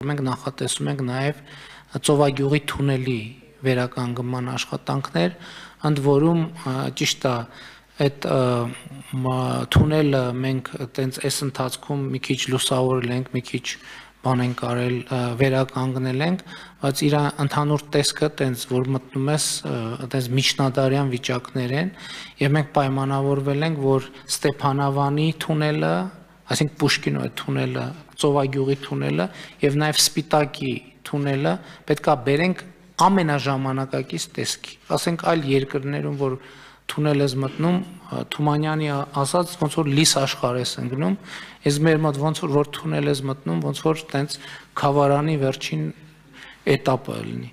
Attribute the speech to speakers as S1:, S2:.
S1: Մենք նախատեսում ենք նաև ծովագյուղի թունելի վերականգնման աշխատանքներ, ընդ որում ճիշտ է այդ թունելը մենք տենց այս ընթացքում մի քիչ լուսավորել ենք, մի քիչ բան ենք արել, վերականգնել ենք, բայց իր ընդհանուր տեսքը տենց որ մտնում ես տենց միջնադարյան վիճակներ են եւ մենք պայմանավորվել ենք, որ Ստեփանավանի թունելը, այսինքն Պուշկինու այդ թունելը, ծովագյուղի թունելը եւ նաեւ Սպիտակի թունելը պետքա բերենք ամենաժամանակակից տեսքի, ասենք այլ երկրներում որ թունել ես մտնում, Թումանյանի ասած ոնց որ լիս աշխարհ ես ընկնում, ես մեր մոտ ոնց որ թունել ես մտնում, ոնց որ տենց խավարանի վերջին этаպը լինի։